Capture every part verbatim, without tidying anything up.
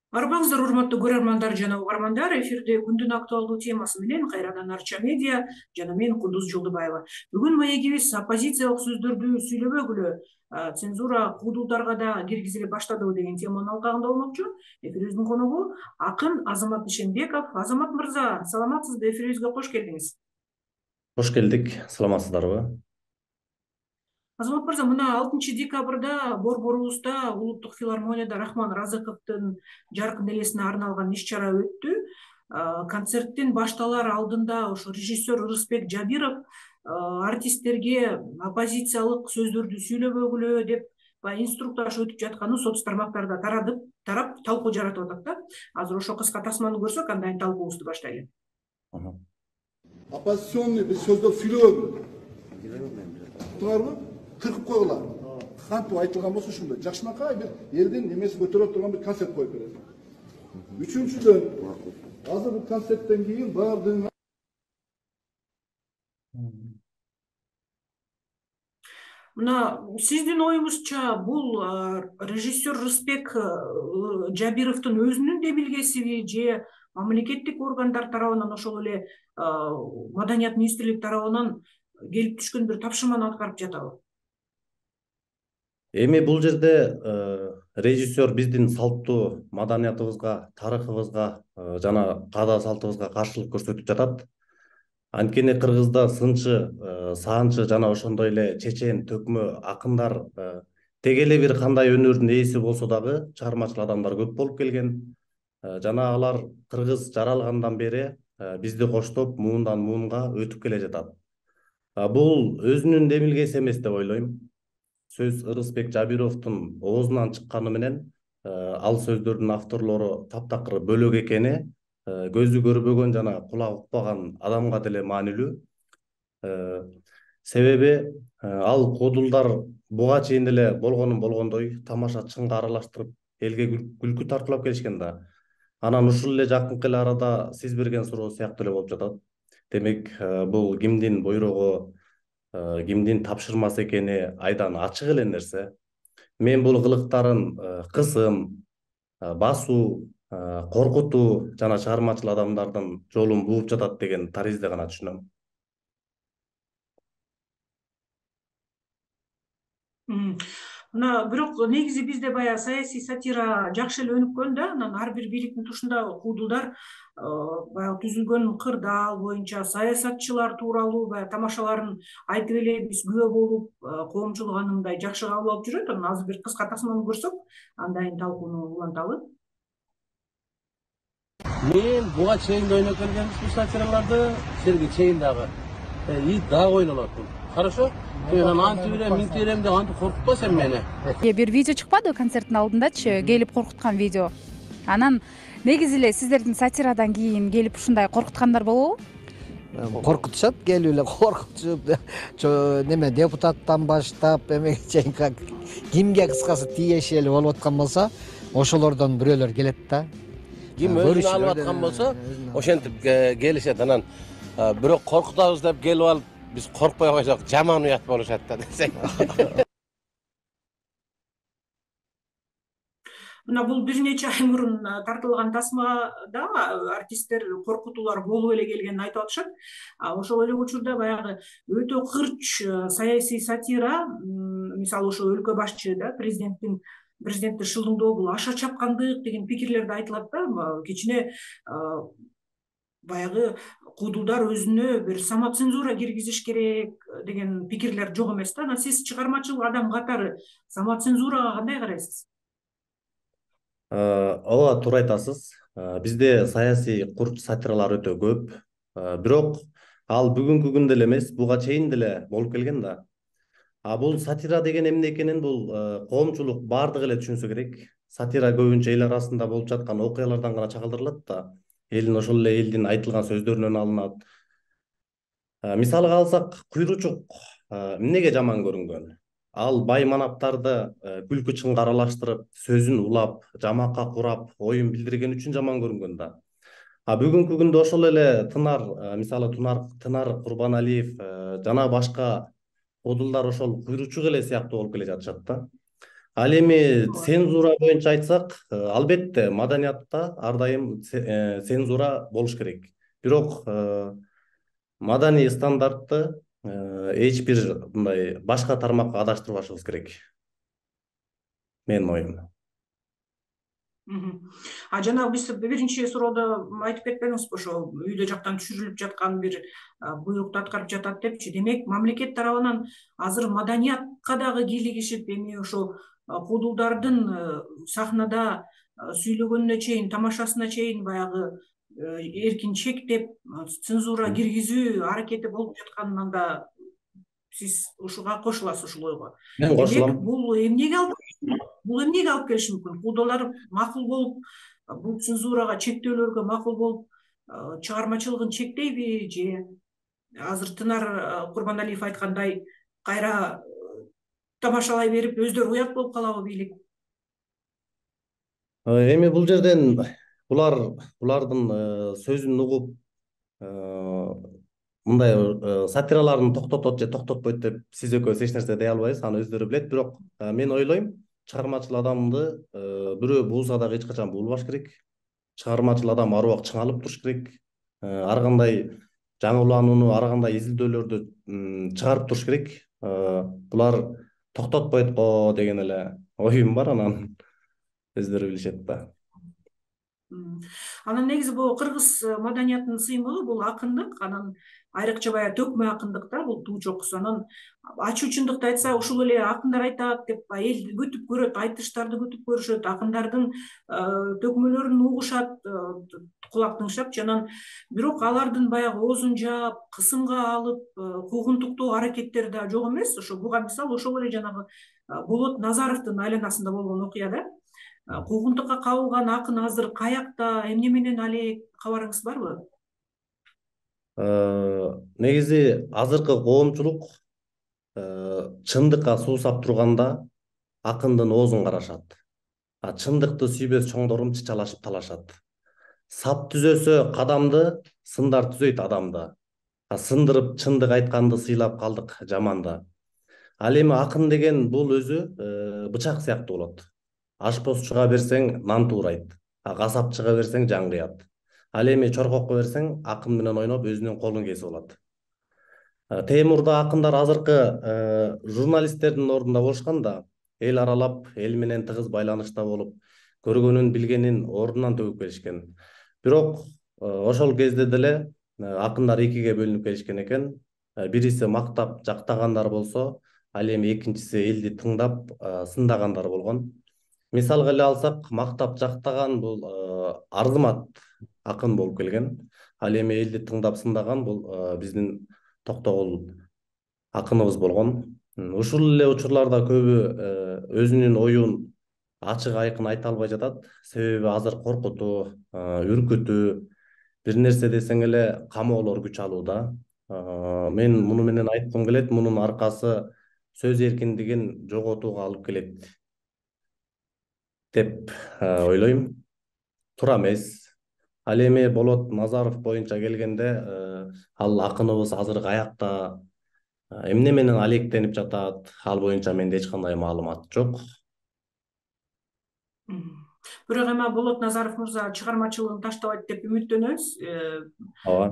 Арбаңыздар, урматтуу көрөрмандар жана угармандар, эфирде күндүн актуалдуу темасы менен кайрадан Арча медиа жана мен Кудуз Жолдубаева. Бүгүн маегибиз оппозициялык сөздөрдү сүйлөбөгүлө цензура куудулдарга да киргизиле баштадыбы деген теманын алкагында болмокчу. Эфирибиздин коногу акын Азамат Ишенбеков. Азамат мырза, саламатсызбы? Эфирибизге кош келдиңиз. Кош келдик, саламатсыздарбы? Азамат мырза, мына алтынчы декабрда Борборубузда улуттук филармонияда Рахман Разыковдун жаркын элесине арналган иш-чара өттү. Концерттин башталар алдында ошо режиссер Ырысбек Жабиров артисттерге оппозициялык сөздөрдү сүйлөбөгүлө деп баягы инструктаж өтүп жатканын соц тармактарда тарадып, тарап талкуу жаратып атат да. Азыр ошо кыска тасманы көрсөк, андан кийин талкуубузду баштайлы. Оппозиционный биз сөздөр сүйлөбөгүлө. Туурабы? Кыркып койгула. Кантип айтылган болсо ушундай жакшынакай бир элдин немеси көтөрө турган бир концерт коюп берет. Үчүнчүдөн, азыр бул концерттен кийин баардыгын Мына сиздин оюңузча бул режиссер Рысбек Жабировдун өзүнүн демилгесиби же мамлекеттик органдар тарабынан, ошол эле Маданият министрлиги тарабынан келип түшкөн бир тапшырманы аткарып жатабы? Эми бул жерде режиссер биздин салттуу маданиятыбызга, тарыхыбызга жана каада салтыбызга каршылык көрсөтүп жатат. Анткени Кыргызда сынчы, саанчы жана ошондой эле чечен, төкмө акындар тег эле бир кандай өнөрдүн ээси болсо дагы чыгармачыл адамдар көп болуп келген. Жана алар Кыргыз жаралгандан бери бизди коштоп муундан муунга өтүп келе жатат. Бул өзүнүн демилгеси эмес деп ойлойм. Сөз Ырысбек Жабировдун оозунан чыкканы менен ал сөздөрдүн авторлору таптакыр бөлөк экени көзү көрбөгөн жана кулагы укпаган адамга деле маанилүү. Себеби ал куудулдар буга чейин деле болгонун болгондой тамаша чыңга аралаштырып элге күлкү тартуулап келишкен да. Анан ушул эле жакынкы эле арада сиз берген суроо сыяктуу эле болуп жатат. Демек бул кимдин буйругу, кимдин тапшырмасы экени айдан ачык эле нерсе. Мен бул кылыктарын кысым, басуу, коркутуу жана чыгармачыл адамдардын жолун бууп жатат деген таризде гана түшүнөм. Мына бирок негизи бизде баягы саясий сатира жакшы эле өнүккөн да. Анан ар бир бийликтин тушунда куудулдар баягы түзүлгөн кырдаал боюнча саясатчылар тууралуу баягы тамашаларын айтып эле биз күбө болуп, коомчулук аны мындай жакшы кабыл алып жүрөт. Анан азыр бир кыска тасманы көрсөк, андан кийин талкууну уланталы. Мен буга чейин да ойноп келгенбиз бул сатираларды, силерге чейин дагы. И дагы ойнолот бул. Хорошо? Мен антип берем, минтип берем деп антип коркутпа сен мени. Бир видео чыкпады концерттин алдындачы, келип коркуткан видео. Анан негизи эле сиздердин сатирадан кийин келип ушундай коркуткандар болобу? Коркутушат, келип эле коркутуп, неме депутаттан баштап эмеге чейин кимге кыскасы тиешелүү болуп аткан болсо, ошолордон бирөөлөр келет да. Ким өзүн алып аткан болсо, ошентип келишет. Анан бирок коркутабыз деп келип алып, биз коркпой койсок жаман уят болушат да десең. Мына бул бир нече ай мурун тартылган тасмада артисттер коркутуулар болуп эле келгенин айтып атышат. Ошол эле учурда баягы өтө кырч саясий сатира, мисалы ошо өлкө башчы да, президенттин президентти шылдыңдоо бул аша чапкандык деген пикирлерди айтылат да. Кичине баягы куудулдар өзүнө бир самоцензура киргизиш керек деген пикирлер жок эмес да. Анан сиз чыгармачыл адам катары самоцензурага кандай карайсыз? Ооба, туура айтасыз. Бизде саясий курч сатиралар өтө көп. Бирок ал бүгүнкү күндө эле эмес, буга чейин деле болуп келген да. А бул сатира деген эмне экенин бул коомчулук бардыгы эле түшүнсө керек. Сатира көбүнчө эл арасында болуп жаткан окуялардан гана чагылдырылат да. Элдин ошол эле элдин айтылган сөздөрүнөн алынат. Мисалга алсак, куйручук эмнеге жаман көрүнгөн? Ал бай манаптарды күлкү чыңга аралаштырып, сөзүн улап, жамакка курап, оюн билдирген үчүн жаман көрүнгөн да. А бүгүнкү күндө ошол эле Тынар, мисалы Тынар Курбаналиев жана башка куудулдар ошол куйручук эле сыяктуу болуп келе жатышат да. Ал эми цензура боюнча айтсак, албетте маданиятта ар дайым цензура болуш керек. Бирок маданий стандартты эч бир мындай башка тармакка адаштырбашыбыз керек. Менин оюм. А жана биз биринчи суроодо айтып кетпедиңизби, ошо үйдө жактан түшүрүлүп жаткан бир буйрукту аткарып жатат депчи. Демек, мамлекет тарабынан азыр маданиятка дагы кийлигишип, эми ошо куудулдардын сахнада сүйлөгөнүнө чейин, тамашасына чейин баягы эркин чектеп, цензура киргизүү аракети болуп жатканында сиз ушуга кошуласыз, ушул ойго? Мен кошулам. Бул эмнеге алып бул эмнеге алып келиши мүмкүн? Куудулар макул болуп, бул цензурага, чектөөлөргө макул болуп, чыгармачылыгын чектейби же азыр Тынар Курбаналиев айткандай кайра тамашалай берип өздөрү уят болуп калабы бийлик? Эми бул жерден булар булардын сөзүн угуп мындай сатираларын токтотот же токтотпойт деп сиз экөөбүз эч нерсе дей албайбыз, аны өздөрү билет. Бирок мен ойлойм, чыгармачыл адамды бирөө бууза дагы эч качан буулбаш керек. Чыгармачыл адам ар убак чыңалып туруш керек. Ар кандай жаңыланууну, ар кандай изилдөөлөрдү чыгарып туруш керек. Булар токтотпойт го деген эле оюм бар, анан өздөрү билишет да. Анан негизи бул кыргыз маданиятынын сыймыгы бул акындык, анан айрыкча баягы төкмө акындык да, бул туу чокусу. Анан ачуу чындыкты айтса, ушул эле акындар айтат деп эл күтүп көрөт, айтыштарды күтүп көрүшөт, акындардын төкмөлөрүн угушат, кулак тыңшапчы. Анан бирок алардын баягы оозун жаап, кысымга алып, куугунтуктоо аракеттери да жок эмес. Ошо буга мисал ошол эле жанагы Болот Назаровдун айланасында болгон окуя да. Куугунтукка кабылган акын азыр каякта, эмне менен алек, кабарыңыз барбы? Негизи азыркы коомчулук чындыкка суусап турганда акындын оозун карашат. Чындыкты сүйбөс чоңдорум чычалашып талашат. Сап түзөсө кадамды, сындар түзөйт адамды. Сындырып чындык айтканды сыйлап калдык жаманда. Ал эми акын деген бул өзү бычак сыяктуу болот. Ашпозчуга берсең нан туурайт, касапчыга берсең жан кыят. Ал эми чоркокко берсең акын менен ойноп өзүнүн колун кесип алат. Темурда акындар азыркы журналисттердин ордунда болушкан да, эл аралап, эл менен тыгыз байланышта болуп, көргөнүн, билгенин ордунан төгүп келишкен. Бирок ошол кезде деле акындар экиге бөлүнүп келишкен экен. Бириси мактап жактагандар болсо, ал эми экинчиси элди тыңдап сындагандар болгон. Мисалга эле алсак, мактап жактаган бул Арзымат акын болуп келген. Ал эми элди тыңдап сындаган бул биздин Токтогул акыныбыз болгон. Ушул эле учурларда көбү өзүнүн оюн ачык айкын айта албай жатат. Себеби азыр коркутуу, үркүтүү, бир нерсе десең эле камоолор күч алууда. Мен муну менен айткым келет, мунун аркасы сөз эркиндигин жоготууга алып келет деп ойлойм. Туура эмес. Ал эми Болот Назаров боюнча келгенде, ал акыныбыз азыр каякта, эмне менен алектенип жатат, ал боюнча менде эч кандай маалымат жок. Бирок эми Болот Назаров мырза чыгармачылыгын таштабайт деп үмүттөнөбүз.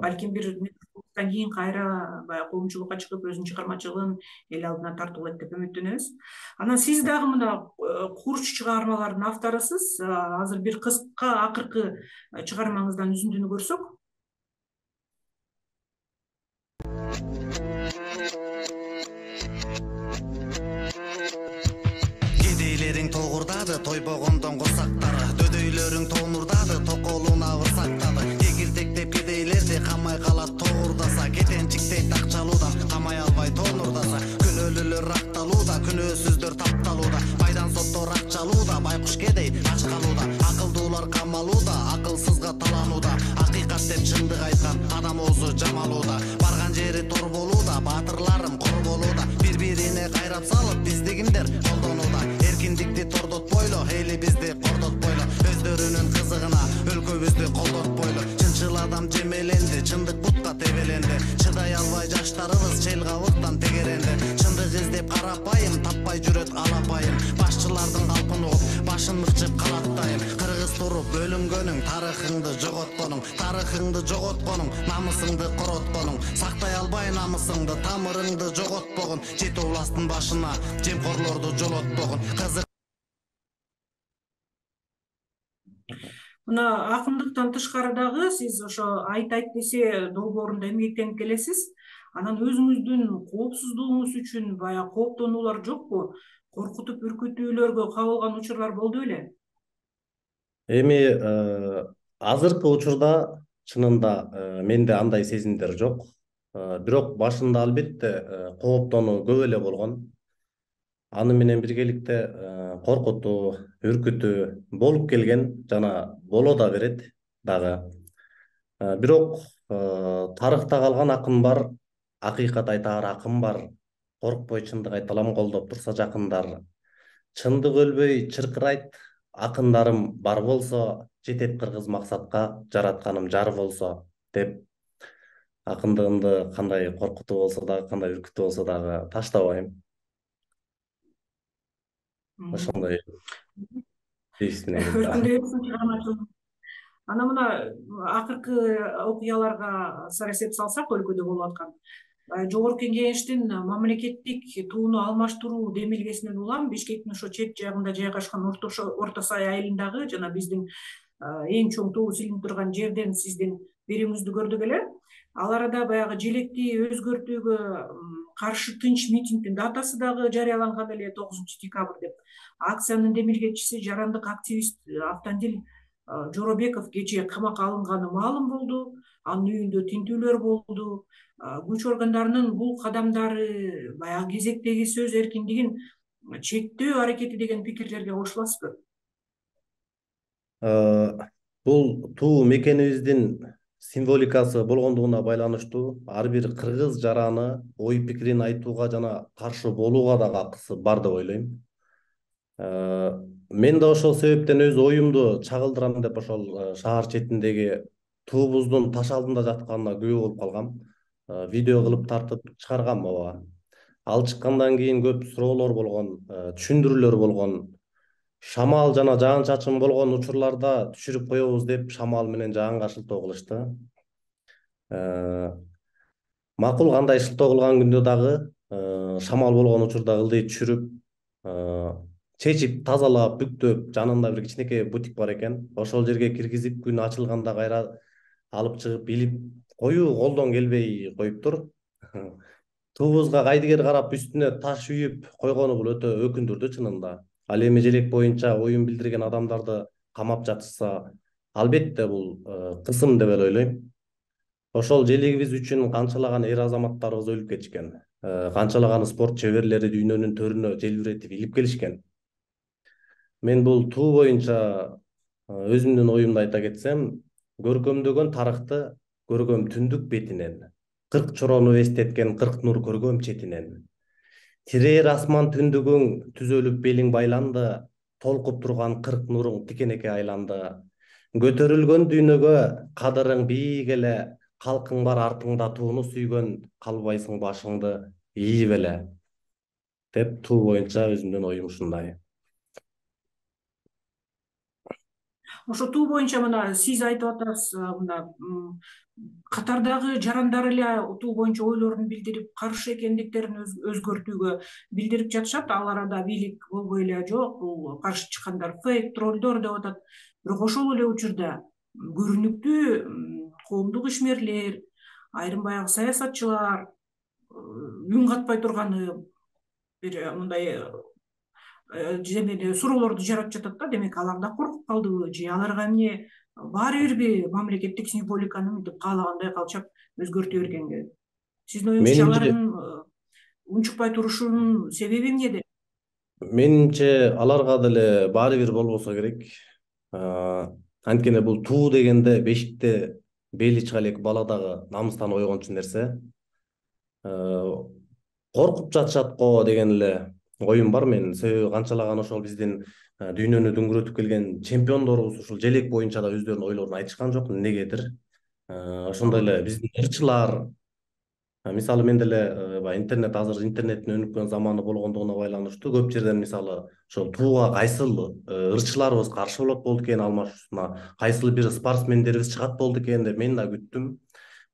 Балким бир мезгилден кийин кайра баягы коомчулукка чыгып өзүнүн чыгармачылыгын эл алдына тартуулайт деп үмүттөнөбүз. Анан сиз дагы мына курч чыгармалардын авторусуз. Азыр бир кыска акыркы чыгармаңыздан үзүндүнү көрсөк. Кедейлериң тогурдады, тойбогондон курсактары, дөдөйлөрүң тонурдады, токолуна ырсактады. Эгилтектеп кедейлерди камай калат тогурдаса, кетенчиктей такчалуудан камай албай тонурдаса, күнөөлүүлөр акталууда, күнөөсүздөр тапталууда, байдан соттор акчалууда, байкуш кедей ач калууда, акылдуулар камалууда, акылсызга таланууда, акыйкат деп чындык айткан адам оозу жамалууда, барган жери тор болууда, баатырларым кор болууда, бири-бирине кайрап салып биздигиндер колдонууда, эркиндикти тордотпойлу, эли бизди кордотпойлу, өздөрүнүн кызыгына өлкөбүздү колдотпойлу, чынчыл адам жемеленди, чындык бутка тебеленди, чыдай албай жаштарыбыз чел кабыктан тегеренди, чындык издеп карапайым, таппай жүрөт алапайым, башчыларды бөлүнгөнүң, тарыхыңды жоготконуң, тарыхыңды жоготконуң, намысыңды коротконуң, сактай албай намысыңды, тамырыңды жоготпогон, жети областтын башына жемкорлорду жолотпогон. Кызык мына акындыктан тышкары дагы сиз ошо айт айт десе долбоорунда эмгектенип келесиз. Анан өзүңүздүн коопсуздугуңуз үчүн баягы кооптонуулар жокпу? Коркутуп үркүтүүлөргө кабылган учурлар болду беле? Эми азыркы учурда чынында менде андай сезимдер жок. Бирок башында албетте кооптонуу көп эле болгон. Аны менен биргеликте коркутуу, үркүтүү болуп келген жана боло да берет дагы. Бирок тарыхта калган акын бар, акыйкат айтаар акын бар. Коркпой чындык айталам, колдоп турса жакындар. Чындык өлбөй чыркырайт, акындарым бар болсо, жетет кыргыз максатка, жаратканым жар болсо деп. Акындыгымды кандай коркутуу болсо дагы, кандай үркүтүү болсо дагы таштабайм. Ошондой дейсине Өркүндөп Ана мына акыркы окуяларга сар эсеп салсак, өлкөдө болуп аткан жогорку кеңештин мамлекеттик тууну алмаштыруу демилгесинен улам Бишкектин ошо чет жагында жайгашкан Орто Сай айылындагы жана биздин эң чоң тоо силинип турган жерден сиздин берүүңүздү көрдүк эле. Ал арада баягы желекти өзгөртүүгө каршы тынч митингдин датасы дагы жарыяланган эле, тогузунчу декабрь деп. Акциянын демилгечиси, жарандык активист Автандил Жоробеков кечээ камакка алынганы маалым болду. Анын үйүндө тинтүүлөр болду. Күч органдарынын бул кадамдары баягы кезектеги сөз эркиндигин чектөө аракети деген пикирлерге кошуласызбы? Бул туу мекенибиздин символикасы болгондугуна байланыштуу ар бир кыргыз жараны ой пикирин айтууга жана каршы болууга дагы акысы бар деп ойлойм. Мен да ошол себептен өз оюмду чагылдырам деп ошол шаар четиндеги туубуздун таш алдында жатканына күбө болуп калгам. Видео кылып тартып чыгаргам ооба. Ал чыккандан кийин көп суроолор болгон, түшүндүрүүлөр болгон. Шамал жана жаан чачын болгон учурларда түшүрүп коебуз деп шамал менен жаанга шылтоо кылышты. Макул, кандай шылтоо кылган күндө дагы шамал болгон учурда ылдый түшүрүп, чечип, тазалап, бүктөп, жанында бир кичинекей бутик бар экен. Ошол жерге киргизип, күн ачылганда кайра алып чыгып илип коюу колдон келбей коюптур. Туубузга кайдыгер карап үстүнө таш үйүп койгону бул өтө өкүндүрдү чынында. Ал эми желек боюнча оюн билдирген адамдарды камап жатышса, албетте бул кысым деп эле ойлойм. Ошол желегибиз үчүн канчалаган эр азаматтарыбыз өлүп кетишкен. Канчалаган спорт чеберлери дүйнөнүн төрүнө желбиретип илип келишкен. Мен бул туу боюнча өзүмдүн оюмду айта кетсем, көркөмдөгөн тарыхты көргөм түндүк бетинен, кырк чорону эстеткен кырк нур көргөм четинен. Тирээр асман түндүгүң түзөлүп белиң байланды, толкуп турган кырк нуруң тикенекке айланды. Көтөрүлгөн дүйнөгө кадырың бийик эле, калкың бар артыңда тууну сүйгөн, калбайсың башыңды ийип эле. Деп туу боюнча өзүмдүн оюм ушундай. Ошо туу боюнча мына сиз айтып атасыз, мына катардагы жарандар эле туу боюнча ойлорун билдирип, каршы экендиктерин өзгөртүүгө билдирип жатышат. Ал арада бийлик болбой эле жок, бул каршы чыккандар фейк, троллдор деп атат. Бирок ошол эле учурда көрүнүктүү коомдук ишмерлер, айрым баягы саясатчылар үн катпай турганы бир мындай суроолорду жаратып жатат да. Демек алар да коркуп калдыбы же аларга эмне баары бирби мамлекеттик символиканы мынтип каалагандай калчап өзгөртө бергенге? Сиздин оюңузча алардын унчукпай турушунун себеби эмнеде? Менимче аларга деле баары бир болбосо керек. Анткени бул туу дегенде бешикте бели чыга элек бала дагы намыстан ойгончу нерсе. Коркуп жатышат го деген эле оюм бар менин. Себеби канчалаган ошол биздин дүйнөнү дүңгүрөтүп келген чемпиондорубуз ушул желек боюнча да өздөрүнүн ойлорун айтышкан жок, эмнегедир. Ошондой эле биздин ырчылар, Мисалы мен деле баягы интернет азыр интернеттин өнүккөн заманы болгондугуна байланыштуу көп жерден мисалы ошол тууга кайсыл ырчыларыбыз каршы болот болду экен алмашуусуна, кайсыл бир спортсмендерибиз чыгат болду экен деп мен да күттүм.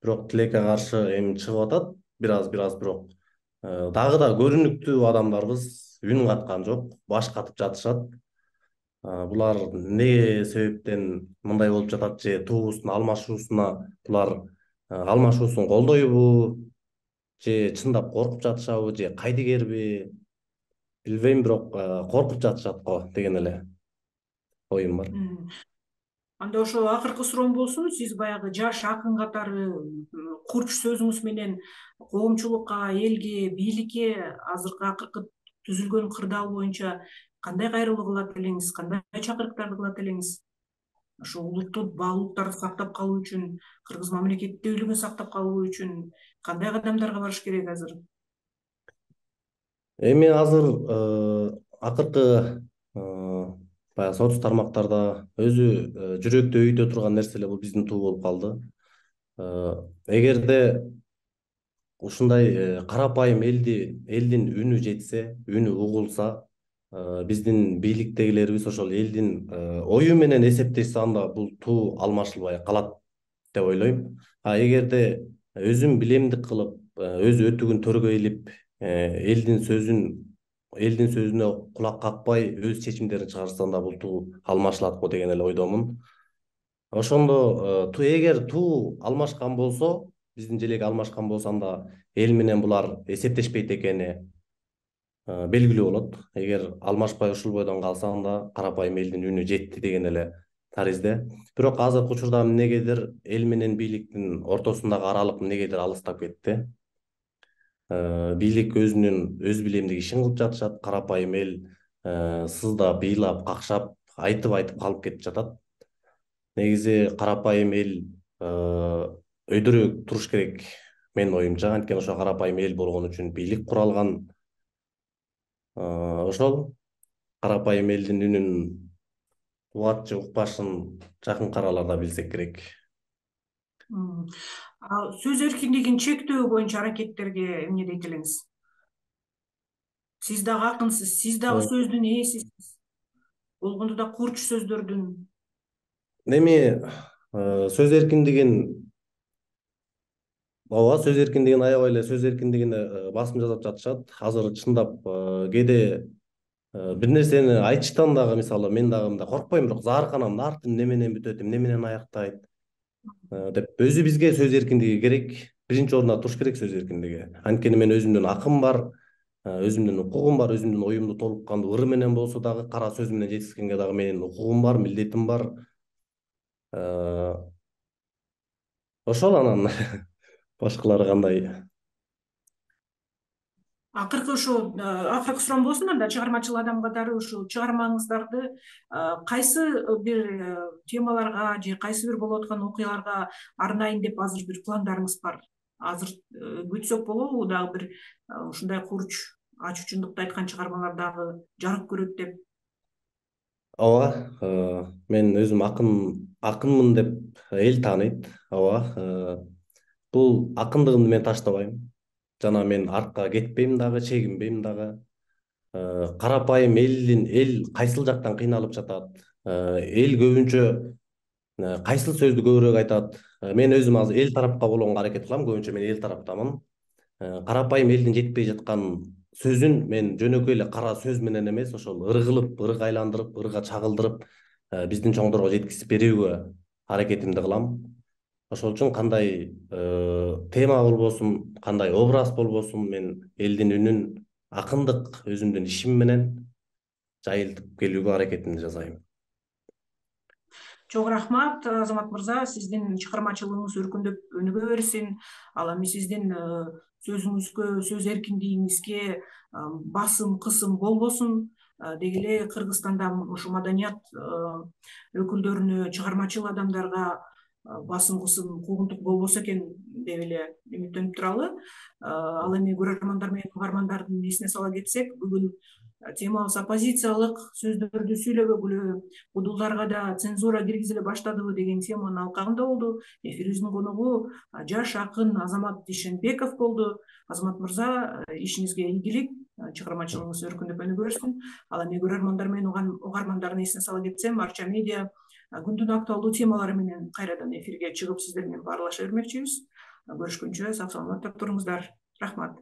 Бирок тилекке каршы эми чыгып атат бир аз бир аз бирок дагы да көрүнүктүү адамдарыбыз үн каткан жок, баш катып жатышат. Булар эмне себептен мындай болуп жатат, же туубуздун алмашуусуна булар алмашуусун колдойбу, же чындап коркуп жатышабы, же кайдыгерби билбейм, бирок коркуп жатышат го деген эле оюм бар. Анда ошо акыркы суроом болсун, сиз баягы жаш акын катары курч сөзүңүз менен коомчулукка, элге, бийликке азыркы акыркы түзүлгөн кырдаал боюнча кандай кайрылуу кылат элеңиз, кандай чакырыктарды кылат элеңиз? Ошо улуттук баалуулуктарды сактап калуу үчүн, кыргыз мамлекеттүүлүгүн сактап калуу үчүн кандай кадамдарга барыш керек азыр? Эми азыр акыркы баягы соц тармактарда өзү жүрөктө өйдө турган нерсе эле бул биздин туу болуп калды. Эгерде ушундай карапайым элди элдин үнү жетсе, үнү угулса, биздин бийликтегилерибиз ошол элдин ою менен эсептешсе, анда бул туу алмашылбай калат деп ойлойм. А эгерде өзүн билемдик кылып, өз өтүгүн төргөй илип, элдин сөзүн элдин сөзүнө кулак какпай өз чечимдерин чыгарса, анда бул туу алмашылат го деген эле ойдомун. Ошондо эгер туу алмашкан болсо, биздин желеги алмашкан болсо, анда эл менен булар эсептешпейт экени белгилүү болот. Эгер алмашпай ушул бойдон калса, анда карапайым элдин үнү жетти деген эле таризде. Бирок азыркы учурда эмнегедир эл менен бийликтин ортосундагы аралык эмнегедир алыстап кетти. Бийлик өзүнүн өз билемдик ишин кылып жатышат, карапайым эл сыздап, ыйлап, какшап, айтып айтып калып кетип жатат. Негизи карапайым эл өйдөрөөк туруш керек менин оюмча. Анткени ошо карапайым эл болгон үчүн бийлик куралган. Ошол карапайым элдин үнүн угат же укпашын жакынкы араларда билсек керек. Сөз эркиндигин чектөө боюнча аракеттерге эмне дейт элеңиз? Сиз дагы акынсыз, сиз дагы сөздүн ээсисиз. Болгондо да курч сөздөрдүн. Эми сөз эркиндигин ооба, сөз эркиндигин аябай эле сөз эркиндигине басым жасап жатышат. Азыр чындап кээде бир нерсени айтыштан дагы, мисалы мен дагы мындай коркпойм, бирок заарканам, арты эмне менен бүтөт, эмне менен аяктайт деп. Өзү бизге сөз эркиндиги керек. Биринчи орунда туруш керек сөз эркиндиги. Анткени мен өзүмдүн акым бар, өзүмдүн укугум бар, өзүмдүн оюмду толук кандуу ыр менен болсо дагы, кара сөз менен жеткизгенге дагы менин укугум бар, милдетим бар. Ошол анан башкалары кандай? Акыркы ошо акыркы суроом болсун, анда чыгармачыл адам катары ушул чыгармаңыздарды кайсы бир темаларга же кайсы бир болуп аткан окуяларга арнайын деп азыр бир пландарыңыз бар? Азыр күтсөк болобу, дагы бир ушундай курч, ачуу чындыкты айткан чыгармалар дагы жарык көрөт деп? Ооба, мен өзүм акын акынмын деп эл тааныйт. Ооба, бул акындыгымды мен таштабайм. Жана мен артка кетпейм дагы, чегинбейм дагы. Карапайым элдин эл кайсыл жактан кыйналып жатат? Эл көбүнчө кайсыл сөздү көбүрөөк айтат? Мен өзүм азыр эл тарапка болгонго аракет кылам, көбүнчө мен эл тараптамын. Карапайым элдин жетпей жаткан сөзүн мен жөнөкөй эле кара сөз менен эмес, ошол ыр кылып, ырга айландырып, ырга чагылдырып биздин чоңдорго жеткизип берүүгө аракетимди кылам. Ошол үчүн кандай тема болбосун, кандай образ болбосун, мен элдин үнүн акындык өзүмдүн ишим менен жайылтып келүүгө аракетимди жасайм. Чоң рахмат, Азамат мырза. Сиздин чыгармачылыгыңыз өркүндөп өнүгө берсин. Ал эми сиздин сөзүңүзгө, сөз эркиндигиңизге басым, кысым болбосун. Деги эле Кыргызстанда ушу маданият өкүлдөрүнө, чыгармачыл адамдарга басым, кысым, куугунтук болбосо экен деп эле үмүттөнүп туралы. Ал эми көрөрмандар менен угармандардын эсине сала кетсек, бүгүн темабыз оппозициялык сөздөрдү сүйлөбөгүлө, удулдарга да цензура киргизиле баштадыбы деген теманын алкагында болду. Эфирибиздин коногу жаш акын Азамат Ишенбеков болду. Азамат мырза, ишиңизге ийгилик, чыгармачылыгыңыз өркүндөп өнүгө берсин. Ал эми көрөрмандар менен угармандардын эсине сала кетсем, Арча медиа күндүн актуалдуу темалары менен кайрадан эфирге чыгып сиздер менен баарлаша бермекчибиз. Көрүшкөнчө сак саламатта туруңуздар. Рахмат.